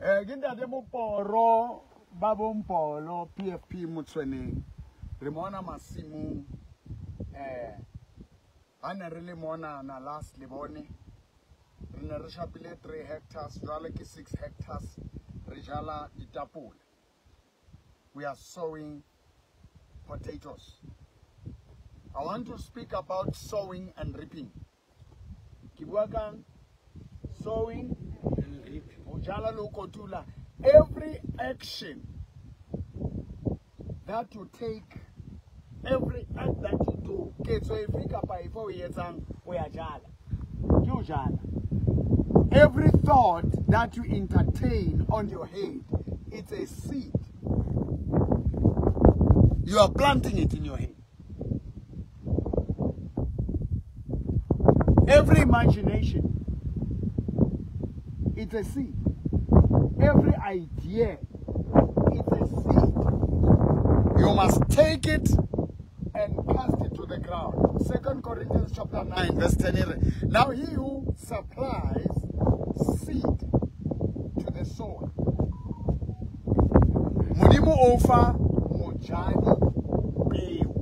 Ke ntate Moporo ba Bompolo PFP Motshweneng. Re mona masimong ha ne re le mona na last le bone re ne re shapile 3 hectares, jwale ke 6 hectares re jala ditapole. We are sowing potatoes. I want to speak about sowing and reaping. Ke bua kang? Sowing and reaping. Ho jala le ho kotula. Every action that you take, every act that you do, ketso efe kapa efe o e etsang, o ya jala. Ke ho jala. Every thought that you entertain on your head, it's a seed. You are planting it in your head. Every imagination, it's a seed. Every idea, it's a seed. You must take it and cast it to the ground. 2 Corinthians chapter 9, verse 10. Now he who supplies seed to the sower. Modimo o fa mojadi peo.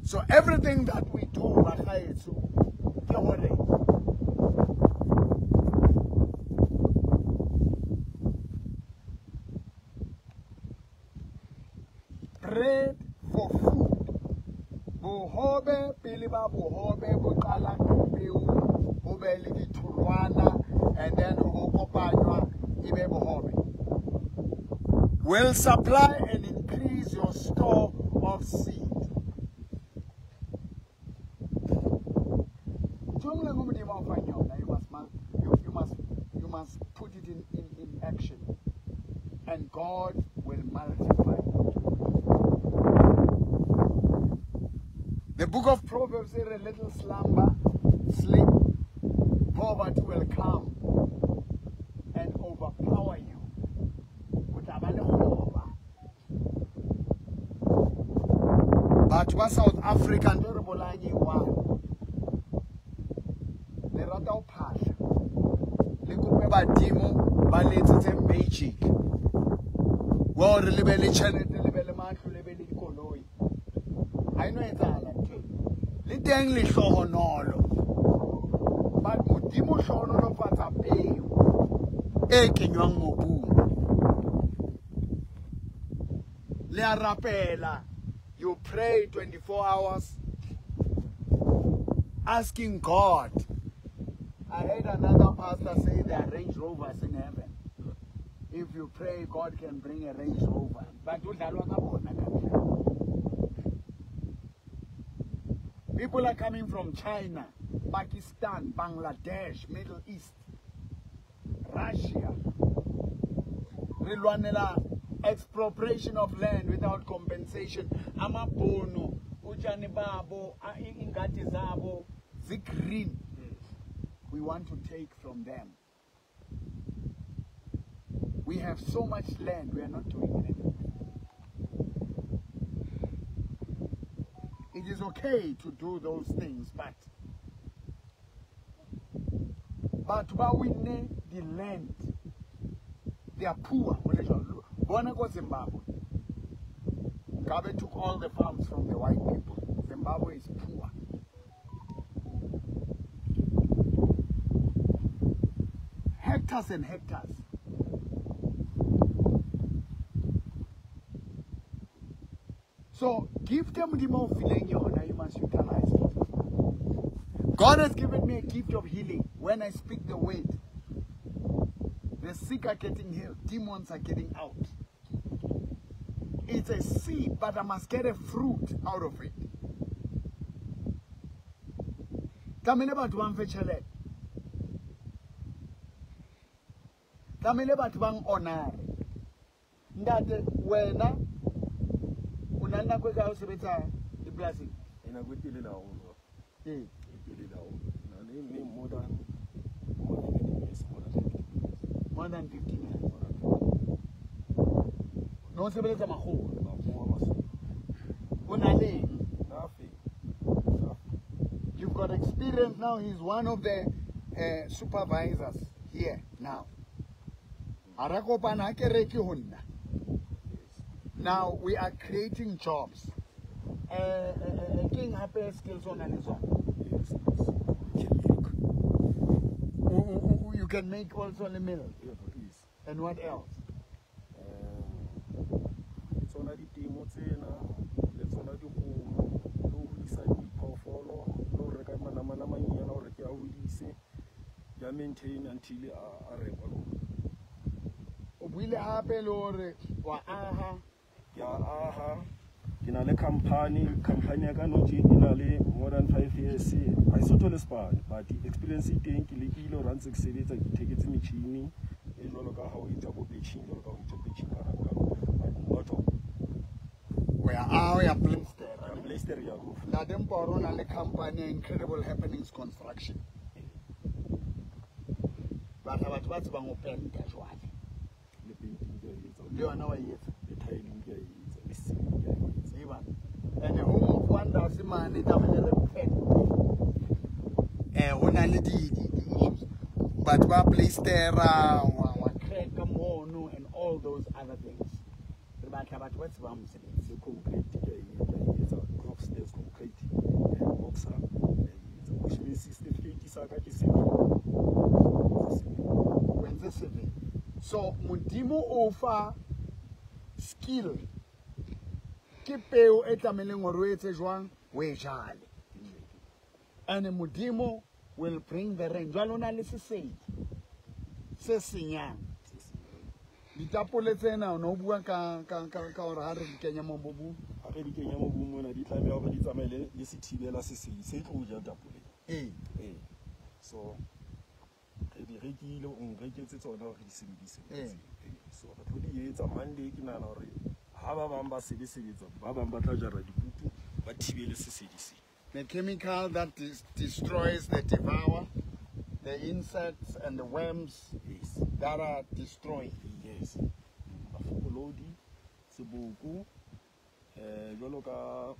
So everything that we do, bagaetso, ke hore bread for food. Bohobe pele ba bohobe bo qala ka peo, ho be le ditholwana, and then ho kopanywa e be bohobe. Will supply and increase your store of seed. You must put it in action, and God will multiply. The book of Proverbs says a little slumber, sleep, poverty will come and overpower you. Batho ba South Africa ntho re bolayang e one. Le rata ho phahla. Le kope badimo ba le etsetse magic. Wa hore le be le tjhelete, le be le matlo, le be le dikoloi. Ha eno etsahala ntho. Le teng lehlohonolo. But Modimo hlohonolofatsa peo e kenywang mobung. Le a rapela. You pray 24 hours asking God. I heard another pastor say there are Range Rovers in heaven. If you pray, God can bring a Range Rover. But people are coming from China, Pakistan, Bangladesh, Middle East, Russia. Re lwanela expropriation of land without compensation. Amabhunu, utshani babo, ingadi zabo, zi-green. We want to take from them. We have so much land, we are not doing anything. It is okay to do those things, but we need the land. They are poor. Bona go Zimbabwe. Mugabe took all the farms from the white people. Zimbabwe is poor. Hectares and hectares. So give them the more feeling you must utilize it. God has given me a gift of healing. When I speak the word, the sick are getting healed, demons are getting out. It's a seed, but I must get a fruit out of it. Tlamehile batho ba mfe tjhelete. Tlamehile batho ba honore. Ntate, wena o na le nako e kae o sebetsa dipolasing? E nako e telele haholo. Ee. E telele haholo. Na le more than 15 years, more than 15 years. More than 15 years. No sebeletsa makgowa. Makgowa Basotho. O na le eng? Nothing. You've got experience now. He's one of the supervisors here now. Ha ra kopana ha ke reke ho nna. Now we are creating jobs. Ke eng hape skills o nang le tsona? Yes, yes. Can make. You can make also the milk. Yeah, yes. And what else? Le tsona ditemo tsena, le tsona dikgomo, le ho hodisa diphoofolo, le ho reka manamane a manyenyane hore ke a hodise, ke a maintain until a rekwa le ona. O buile hape le hore wa aha. Ke a aha. Ke na le company, company ya ka nou tje e na le more than 5 years. Ha e so thole sepane, but experience e teng, ke lekile hore ha ntse ke sebetsa ke itheketse metjhini e jwalo ka ha o etsa bo batching, jwalo ka ha o etsa batching ka hara but not all. O ya aha, o ya plaster. Ya plaster ya roof. Ntate Mporo o na le company ya Incredible Happenings Construction. Batla batho ba tsebang ho penta jwale. Le painting ke a etsa. Le yona wa e etsa. Le tiling ke a etsa, le ceiling ke a etsa. Tseba. And the Home of Wonders mane tlamehile re pente. Ho na le di issues. Batho ba plastera, wa crack mono and all those other things. Re batla batho ba tsebang mosebetsi. Le concrete ke a etsa, crop stairs concrete, boxer, ke a etsa. Which means certificate sa ka ke civil. O entse civil. So Modimo o fa skill. Ke peo e tlamehileng hore o etse jwang, o e jale. And Modimo will bring the rain. Jwale o na le sesedi se senyang. Ditapole tsena o no bua ka hore ha re di kenya mo mobung. Ha re di kenya mobung mona di tlameha hore di tsamaye le sethibela sesedi se tlo ja tapole. Ee. Ee. So re di rekile, o nreketse tsona hore di sebedise. Ee. So re tlo di etsa Monday, ke nahana hore ha ba bang ba sebetsa, ba bang ba tla jara dikutu, ba thibele sesedi se. The chemical that destroys the devourer, the insects and the worms Yes. that are destroyed. Yes. Mafokolodi, seboko, jwalo ka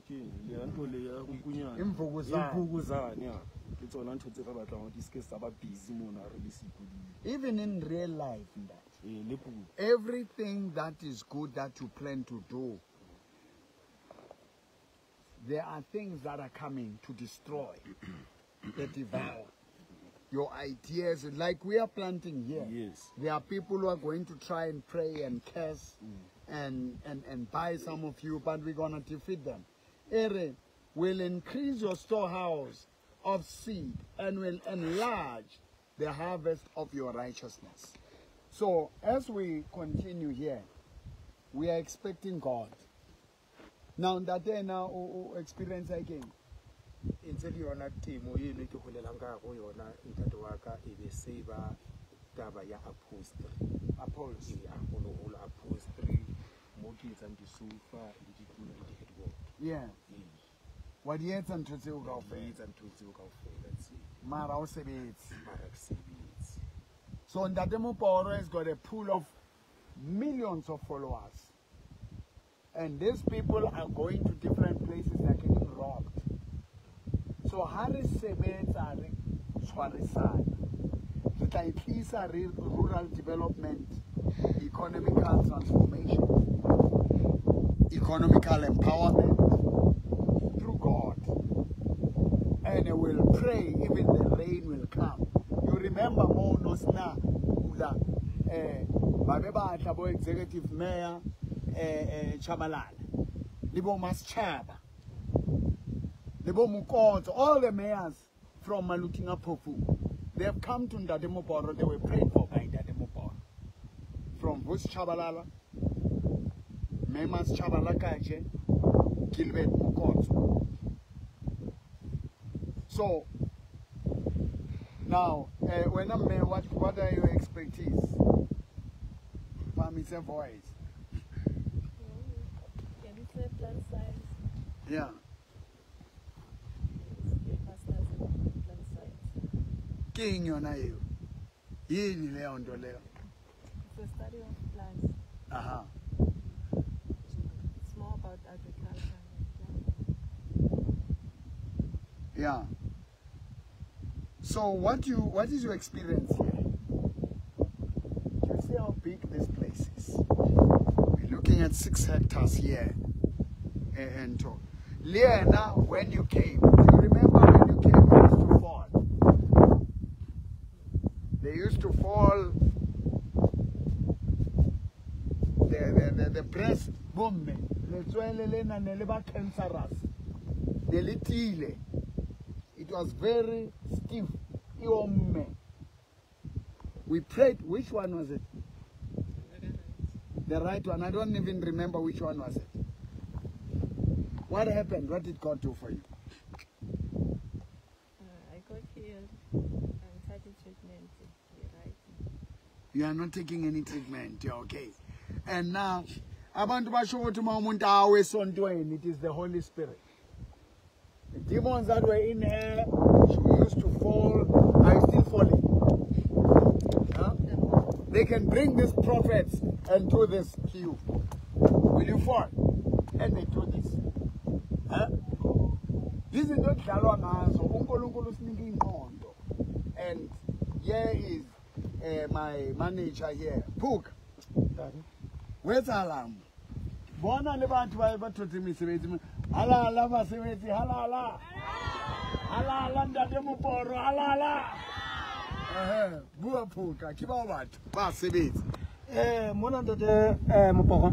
ke eng, le ntho le ya nkunyana. Imvukuzane. Imvukuzane, ya. Ke tsona ntho tse re batlang hore di se ke tsa ba busy mona re le siko di. Even in real life, that. Le puo. Everything that is good that you plan to do, there are things that are coming to destroy, the devour. Your ideas, like we are planting here. Yes. There are people who are going to try and pray and curse and buy some of you, but we're going to defeat them. Ere will increase your storehouse of seed and will enlarge the harvest of your righteousness. So as we continue here, we are expecting God. Now, that now experience again. E ntse le yona temo eno ke holelang ka hare ho yona, ntate wa ka, e be se ba taba ya upholstery. Upholstery. Ee, haholoholo upholstery, mo ke etsang disofa le ditulo le di-headboard. Yeah. Ee. Wa di etsa ntho tseo Di kaofela? etsa ntho tseo kaofela tseo. Mara o sebetse. Mara ke sebetse. So Ntate Moporo has got a pool of millions of followers. And these people are going to different places, they are getting robbed. So ha re sebetsa re tshwarisana, re tla e tlisa re rural development, economical transformation, economical empowerment through God. And we will pray even the rain will come. You remember mo no sna pula, ba be ba tla bo executive mayor, Tshabalala, le bo Masechaba, le bo Mokotso, all the mayors from Maluti-a-Phofung, they have come to Ntate Moporo. They were prayed for by Ntate Moporo. From Vusi Tshabalala, Memas Tshabalakaje, Gilbert Mokotso. So now, when I'm mayor, what are your expertise? Phamise voice. Plant science. Yeah. Masters in plant science. Ke eng yona eo? Yini leyo nto leyo? It's the study of plants. Aha. It's more about agriculture and plants. Yeah. So So what is your experience here? Do you see how big this place is? We're looking at 6 hectares here. And Liana, when you came, do you remember when you came, they used to fall? They used to fall. The breast, boom, cancerous. It was very stiff. We prayed. Which one was it? The right one. I don't even remember which one was it. What happened? What did God do for you? I got healed. I'm taking treatment. Right. You are not taking any treatment. You're okay. And now, abantu basho ukuthi uma umuntu awe esontweni, it is the Holy Spirit. The demons that were in her, she used to fall, are still falling. Huh? They can bring these prophets and do this to you. Will you fall? And they do this. Huh? Izinto edlalwa ngazo, uNkulunkulu usinika ingqondo. And here is my manager here, Puk. Wetsalang? Bona le batho ba thotse mesebetsi. Halala basebetsi, halala. Halala ntate Moporo, halala. Bua Phuka, ke bao batho ba sebetsa. Mona ntate Moporo,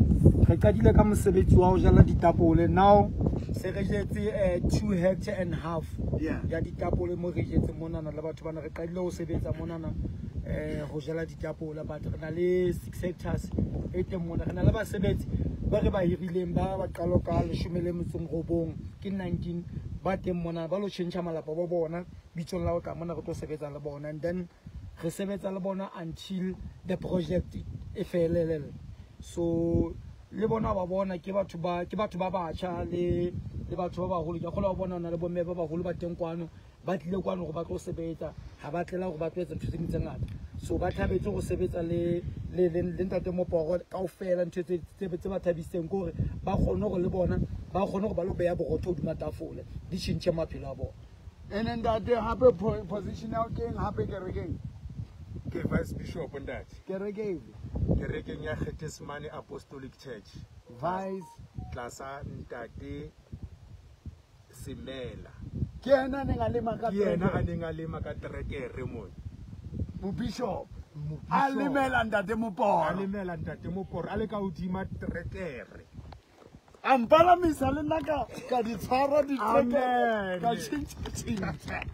re qadile ka mosebetsi wa ho jala ditapole. Now se re jetse 2.5 hectares ya ditapole mo re jetse monana le batho bana re qadile ho sebetsa monana ho jala ditapole, but re na le 6 hectares e teng mona. Re na le basebetsi ba re ba hirileng ba qalo ka 19 ke 19 ba teng mona ba lo tjhentjha malapa ba bona bitsong la ho tla mona re tlo sebetsa le bona, and then re sebetsa le bona until the project e felelele. So le bona ba bona ke batho ba batjha le batho ba baholo. Ke kgona ho bona na le bomme ba baholo ba teng kwano ba tlile kwano hore ba tlo sebetsa, ha ba tlela hore ba tlo etsa ntho tse ding tse ngata. So ba thabetse go sebetsa le ntate Moporo kaofela. Ntho tse ba thabisitseng ke hore ba kgone hore le bona ba kgone hore ba lo beha borotho hodima tafole, di tjhentjhe maphelo a bona. Ene ntate hape position ya keng hape kerekeng? Ke Vice Bishop ntate. Kereke efe? Kerekeng ya Getsemane Apostolic Church. Vice tlasa ntate Semela. Ke yena a neng a lema ka Ke yena a neng a lema ka terekere mona. Mobishop a lemela ntate Moporo. A lemela ntate Moporo a le ka hodima terekere. A mpalamisa le nna ka di tshwara diterekere ka tjhentjha.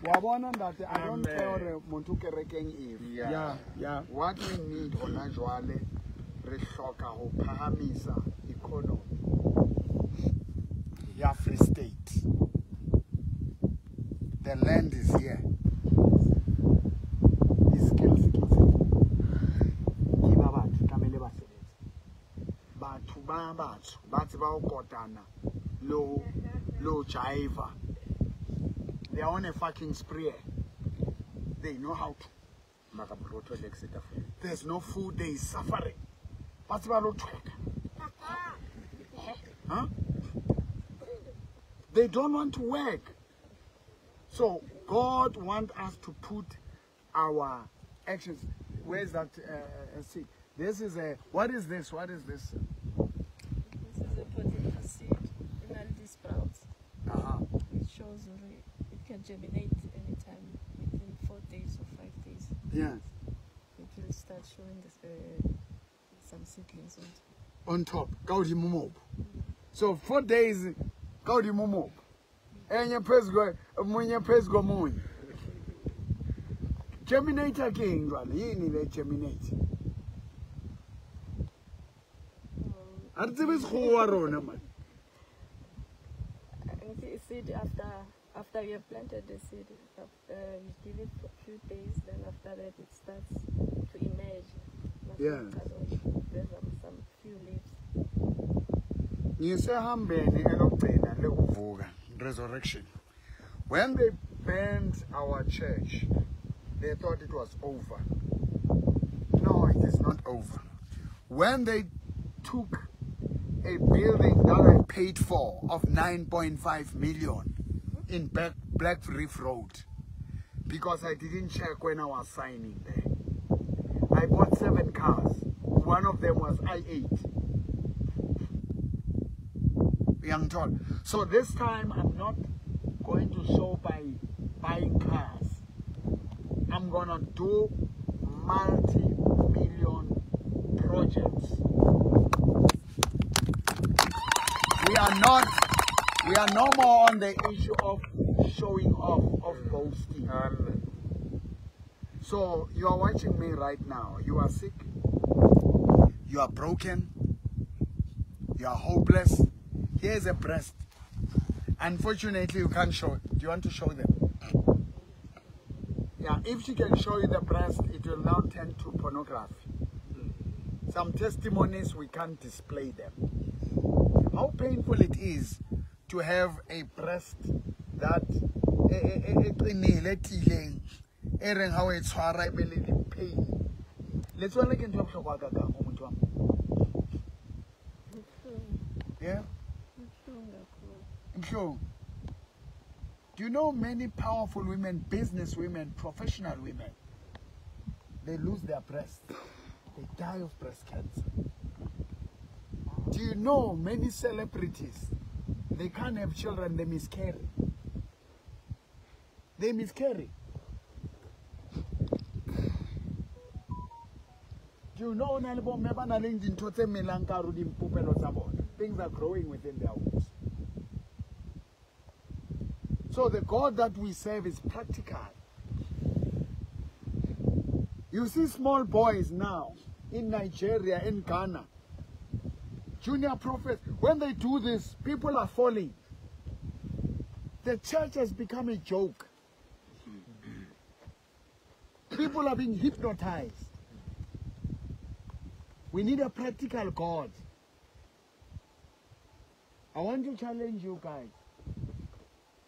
Wa bona ntate, I don't care hore motho kerekeng efe. Yeah. What we need hona jwale, re hloka ho phahamisa economy ya Free State. The land is here. The skills ke tse. Ke ba batho tlamehile ba sebetse. Batho ba batsho ba tseba ho kotana le ho jive. They are on a fucking spree. They know how to. There's no food, they is suffering. Ba tseba lo thweka. Huh? They don't want to work. So God wants us to put our actions. Where's that seed? This is a, what is this? What is this? This is a potato seed, and sprouts. It shows it can germinate anytime within 4 days or 5 days. Yeah. It will start showing this, some seedlings on top. Ka hodimo mobu. So 4 days, ka hodimo mobu. Enye phezu munye phezu komunye. Germinate ke eng jwale? Yini le germinate? Ha re tsebe sekgowa rona man. Seed after you have planted the seed, you give it a few days, then after that it starts to emerge. Yeah. There's some few leaves. Ngisehambeni elokugcina lekuvuka, resurrection. When they burned our church, they thought it was over. No, it is not over. When they took a building that I paid for of 9.5 million in Black Reef Road, Because I didn't check when I was signing there. I bought 7 cars. One of them was i8. Young tall. So this time I'm not going to show by buying cars. I'm gonna do multi-million projects. We are no more on the issue of showing off, of boasting. So you are watching me right now. You are sick. You are broken. You are hopeless. Here's a breast. Unfortunately, you can't show it. Do you want to show them? Yeah, if she can show you the breast, it will now turn to pornography. Some testimonies, we can't display them. How painful it is to have a breast that pain. Let's Yeah? Do you know many powerful women, business women, professional women, they lose their breasts. They die of breast cancer. Do you know many celebrities, they can't have children, they miscarry. They miscarry. Do you know things are growing within their wombs? So the God that we serve is practical. You see small boys now in Nigeria, in Ghana, junior prophets, when they do this, people are falling. The church has become a joke. People are being hypnotized. We need a practical God. I want to challenge you guys.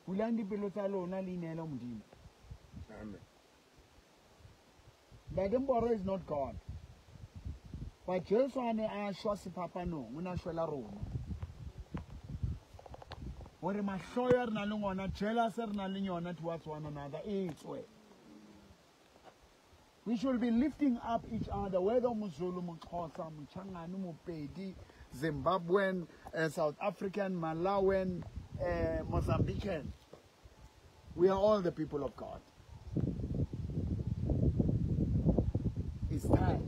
Amen. Bademboro is not God. But Jesu ane a shwa sefapano, o na shwela rona. Hore mahloyo re na le ngona, jealous re na le yona towards one another, e tswe. We should be lifting up each other, whether Mzulu, Mxhosa, Mchangani, Mopedi, Zimbabwean, South African, Malawian, Mozambican. We are all the people of God. It's time.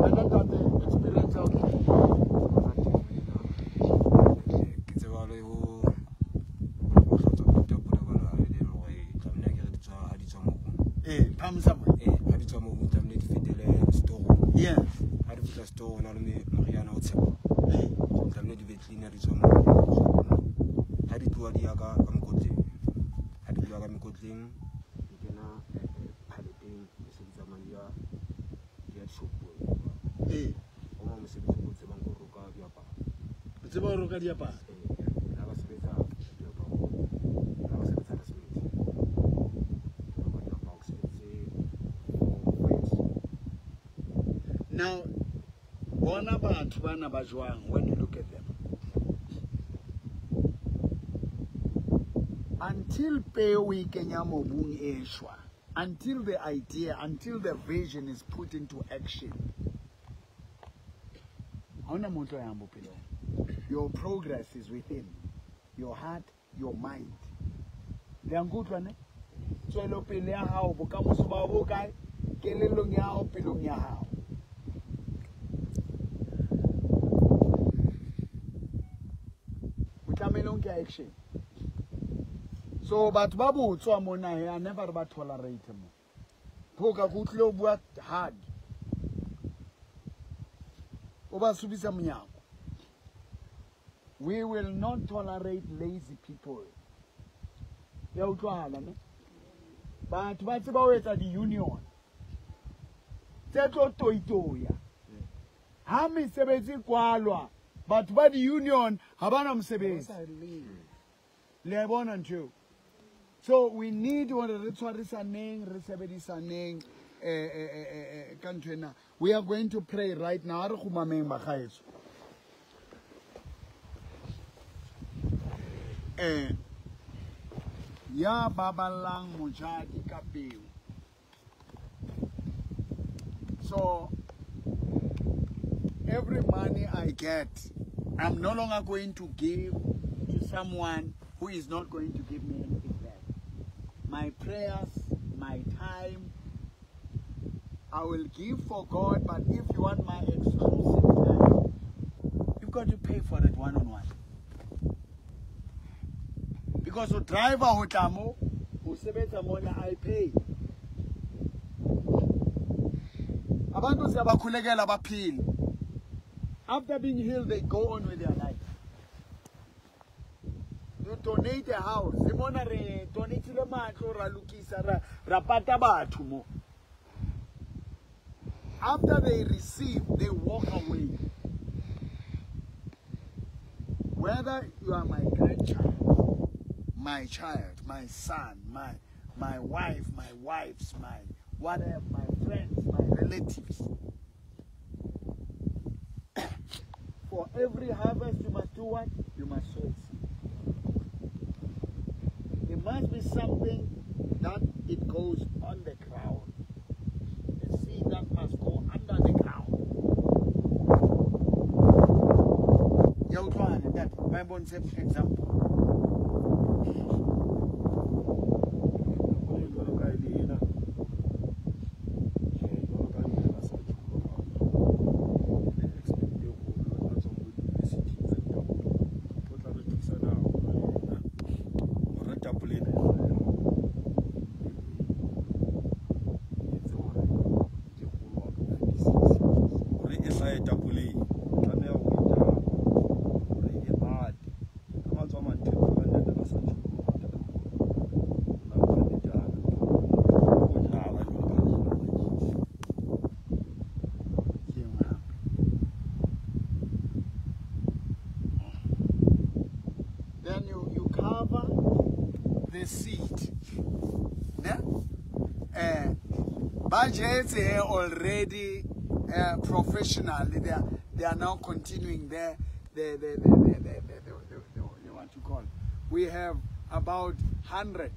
I don't have the experience of Yes. Now, bona batho bana ba jwang when you look at them? Until peo e kenya mobung e shwa, until the idea, until the vision is put into action, your progress is within your heart, your mind. Le a nkutlwa ne? Tswelopele ya hao, bokamoso ba bo kae? Kelellong ya hao, pelong ya hao. O tlamehile o nke action. So batho ba botswa mona he, I never ba tolerate mo. Phoka ke utlwile o bua hard. O ba subisa monyako. We will not tolerate lazy people. Ya utlwahala ne? Batho ba tseba ho etsa di-union tse tlo toitoya. Ha mesebetsi kwalwa, batho ba di-union ha bana mosebetsi. Le a bona ntho eo? So we need hore re tshwarisaneng, re sebedisaneng ka ntho ena. We are going to pray right now. Re kgumameng bagaetsho. Ya baballang mojadi ka peo. So every money I get, I'm no longer going to give to someone who is not going to give me anything back. My prayers, my time, I will give for God, but if you want my exclusive time, you've got to pay for it one-on-one. Because the driver ho tla mo, ho sebetsa mona, I pay. Abantu siyabakhulekela baphile. After being healed, they go on with their life. You donate a house. Mona re donate-ile matlo, ra lokisa, ra pata batho mo. After they receive, they walk away. Whether you are my grandchild, my child, my son, my wife, my wives, my whatever, my friends, my relatives. For every harvest, you must do what? You must sow seed. There must be something that it goes on the ground. A seed that must go under the ground. That Bible example. Then you cover the seed. Yeah? Budgets here already professionally. They are now continuing their what you call. We have about 100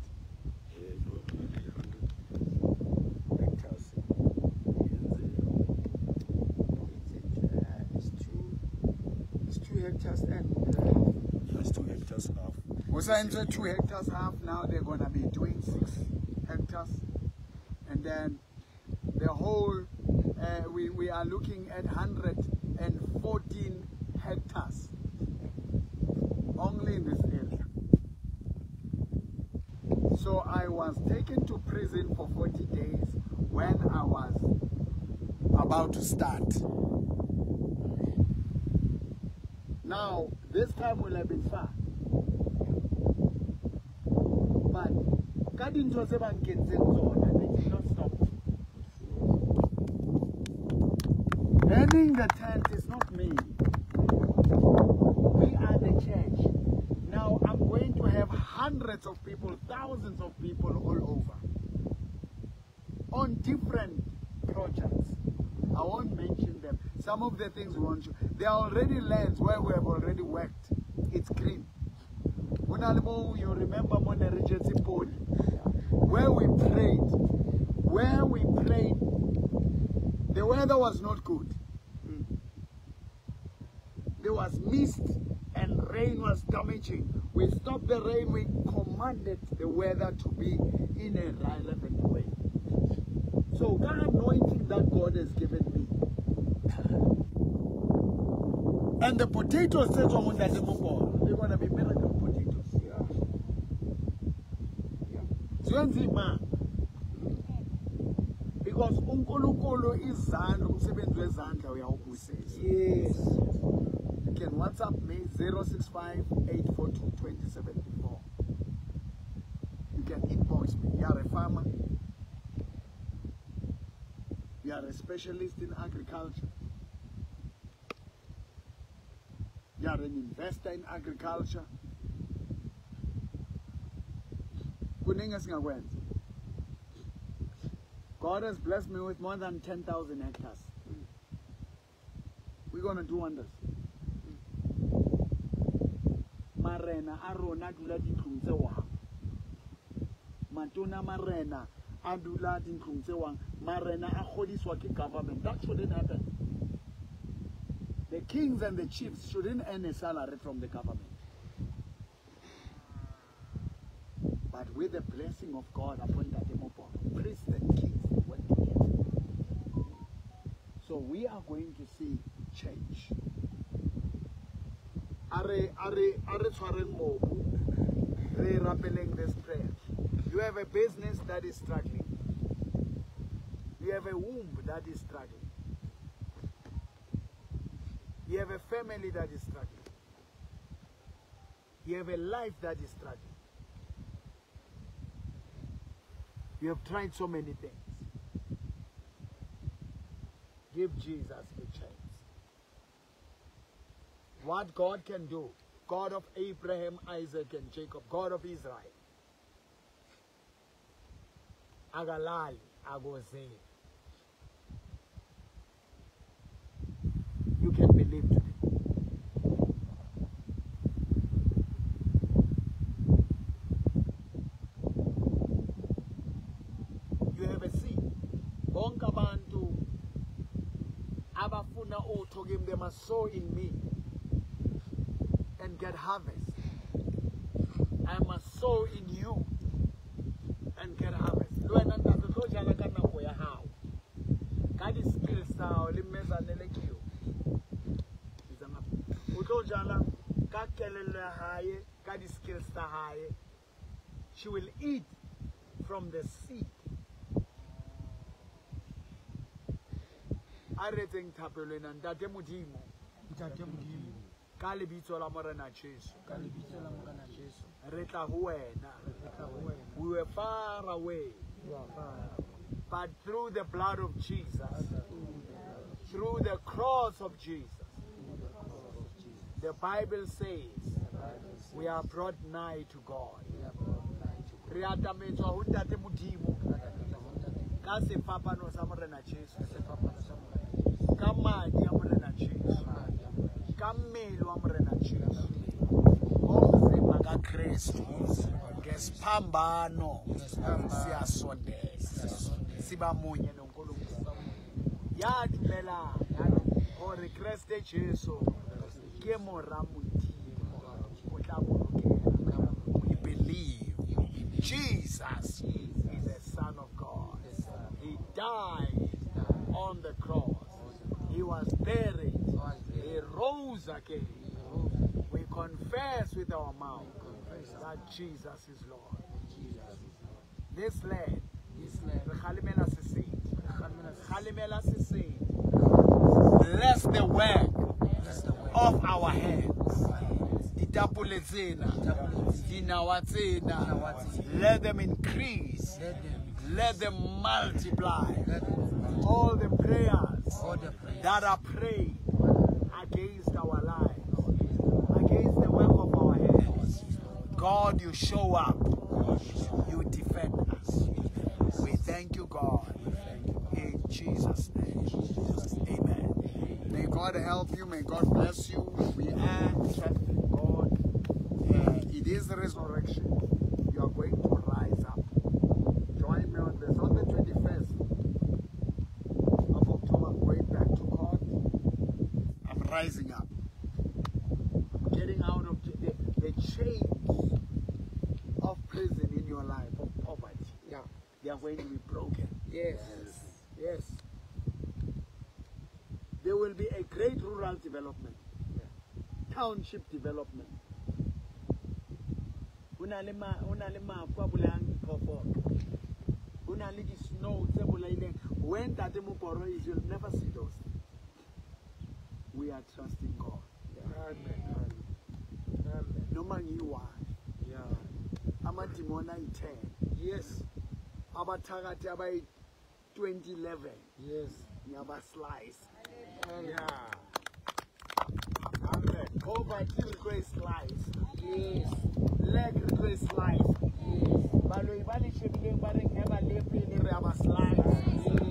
hectares. It's 2 hectares and a half. That's 2 hectares and a half. Was I into 2 hectares half? Now they're gonna be doing 6 hectares, and then the whole we are looking at 114 hectares only in this area. So I was taken to prison for 40 days when I was about to start. Now, this time will have been far. But ka dintho tse ba nkentseng tsona, they did not stop. Burning the tent is not me. We are the church. Now I'm going to have hundreds of people, thousands of people all over on different projects. I won't mention them. Some of the things we want to. There are already lands where we have already worked. It's green. You remember Mona Regency Pole, where we prayed. Where we prayed, the weather was not good. There was mist and rain was damaging. We stopped the rain, we commanded the weather to be in a relevant way. So that anointing that God has given me. And the potatoes, they're going to be miracle potatoes. Yeah. Yeah. Because uNkulunkulu izandla umsebenzi wezandla uyawubusisa. Yes. You can WhatsApp me 065-842-2074. You can inbox me. You are a farmer. You are a specialist in agriculture. You are an investor in agriculture. God has blessed me with more than 10,000 hectares. We're going to do wonders. Marena a rona dula dintlong tse wa. Matona marena a dula dintlong tse wang, marena a kgodiswa ke government. That shouldn't happen. The kings and the chiefs shouldn't earn a salary from the government. But with the blessing of God upon Ntate Moporo, priests and kings work together. So we are going to see change. Are tshwareng mobu, re rapeleng this prayer. You have a business that is struggling. You have a womb that is struggling. You have a family that is struggling. You have a life that is struggling. You have tried so many things. Give Jesus a chance. What God can do, God of Abraham, Isaac, and Jacob, God of Israel. Agalali, agozeli. You can believe today. You have a seed. Bonke abantu abafuna utho kimi, they must sow in me and get harvest. I must sow in you and get harvest. Le wena ntate tlo jala ka nako ya hao. Ka di-skills tsa hao le mmezanele ke eo. O tlo jala ka kelello ya hae, ka di-skills tsa hae. She will eat from the seed. A re etseng thapelo ena, Ntate Modimo. Ntate Modimo. Ka lebitso la Morena Jesu. Ka lebitso la Morena Jesu. Re tla ho wena. Re tla ho wena. We were far away. But through the blood of Jesus, through the cross of Jesus, the Bible says we are brought nigh to God. Re atametswa ho Ntate Modimo ka sefapano sa Morena Jesu, ka madi a Morena Jesu, ka mmele wa Morena Jesu, ngomzimba kaKristu, ngesiphambano siyasondela, siba munye noNkulunkulu. Ya dumelang hore Kreste Jesu ke mora Modimo, o tla bolokela. We believe Jesus is the Son of God. He died on the cross. He was buried. He rose again. We confess with our mouth that Jesus is Lord. This land, re kgalemela sesedi. Kgalemela sesedi. Bless the work of our hands. Ditapole tsena, dinawa tsena, let them increase. Let them multiply. All the prayers that are prayed against our lives, against the work of our hands, God, you show up. You defend us. We thank you, God. In Jesus' name. Amen. May God help you. May God bless you. We are trusting God. It is the resurrection. You are going to rise up. Join me on this. On the 21st of October, I'm going back to court. I'm rising up. I'm getting out of the chains of prison in your life, of poverty. Yeah. They are going to be broken. Yes. Yes. There will be a great rural development. Yeah. Township development. Ho na le mafu a bolayang diphoofolo. Ho na le di-snow tse bolaileng. When Ntate Moporo is, you'll never see those things. We are trusting God. Amen. Amen. Noma ngiyi-one. Yeah. Amadimoni ayi-10. Yes. Abathakathi abayi-2011. Yes. Ngiyaba-slice. Yeah. Amen. Poverty re tlo e slice. Yes. Lack re tlo e slice. Yes. Baloi ba le shebileng ba reng he ba le pele re a ba slice. Yes.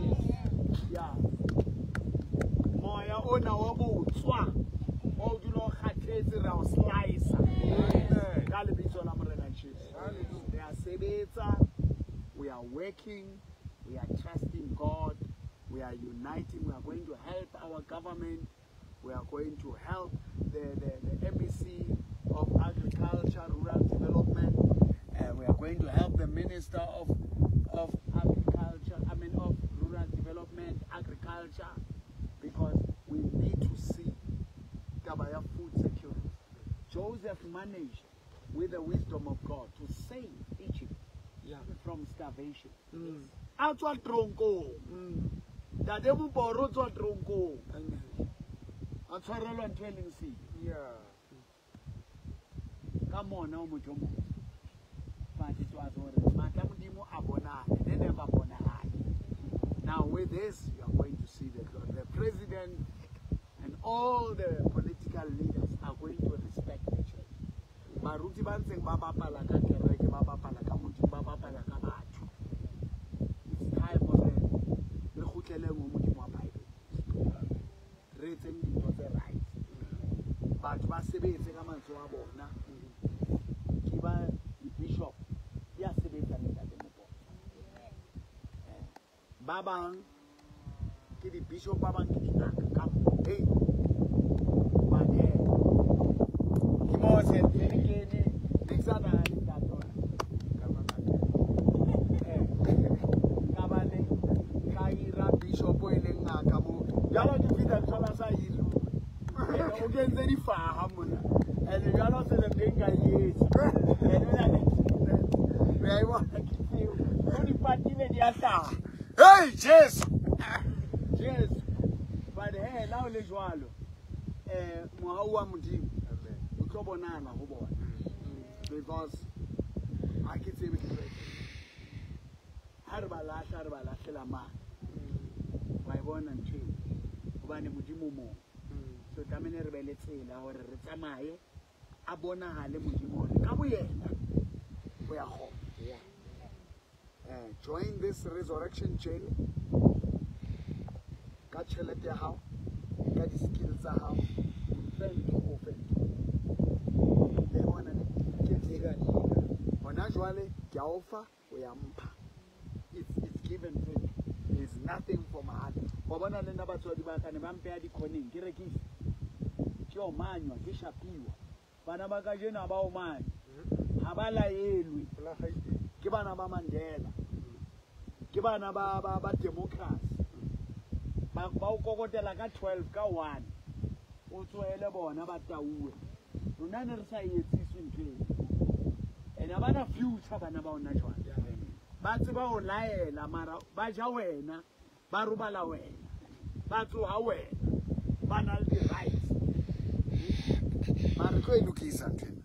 Yeah. Moya ona wa botswa wa o dula o kgathetse re a o slice. Amen. Ka lebitso la Morena Jesu. Hallelujah. Re a sebetsa, working, we are trusting God, we are uniting, we are going to help our government, we are going to help the MEC of Agriculture, Rural Development, we are going to help the Minister of Agriculture, I mean of Rural Development, Agriculture, because we need to see Tabaya food security. Joseph managed, with the wisdom of God, to save Egypt from starvation. A tswa tronkong. Ntate Moporo o tswa tronkong. A tshwarelwa ntho e leng sebe. Ka mona o motho o motsho. But it was hore matla Modimo a bonale, ne never bonahale. Now with this, you are going to see the president and all the political leaders are going to respect the church. Baruti ba ntseng ba bapala ka kereke, ba bapala ka Modimo, ba bapala ka batho. It's time hore re kgutleleng ho Modimo wa Bible. Re etseng dintho tse right. Batho ba sebetse ka mantswe a bona. Ke ba di-bishop ya sebetsang ntate Moporo. Ba bang ke di-bishop, ba bang ke dingaka ka mo. Hey, but ke mo se ntse ke ne ne ke sa nahane ntate ona. Ka ba le ka hira bishop e leng ngaka mo. Jwale ke fihla ke thola sa hiruwe. O kentse difaha mona. Ene jwale o se le ntho e nka e etsa. Ene o na le re a e bona ke tseo. O di patile di a hlaha. Hey, Jesu! Jesu. But hey, la o le jwalo, mohau wa Modimo o tlo bonahala ho bona. Because ha ke tsebe ke tlo etsang. Ha re ba lahla, re ba lahlela mang? Wa e bona ntho eo. Hobane Modimo o mong. So tlamehile re be le tsela hore re tsamaye, a bonahale Modimo hore ka boyena o ya kgona. Join this resurrection journey. Ka tjhelete ya hao, ka di-skills tsa hao, fento o fento. Le bona ne ke tseka. Hona jwale ke a o fa, o ya mpha. It's give and take. There's nothing for my heart. Wa bona le nna batswadi ba ka ne ba mpeha dikhoneng, ke rekise. Ke omanywa, ke shapiwa. Bana ba kajeno ha ba omanywe. Ha ba laelwe. Ke bana ba Mandela. Ke bana ba democracy. Ba o kokotela ka 12 ka 1. O tsohele bona ba tauwe. Rona ne re sa etsiswe ntho eo. And ha bana future bana ba ona jwale. Ba tseba ho laela mara ba ja wena, ba robala wena, ba tsoha wena, ba na le di-rights. Mara re tlo e lokisa ntho ena.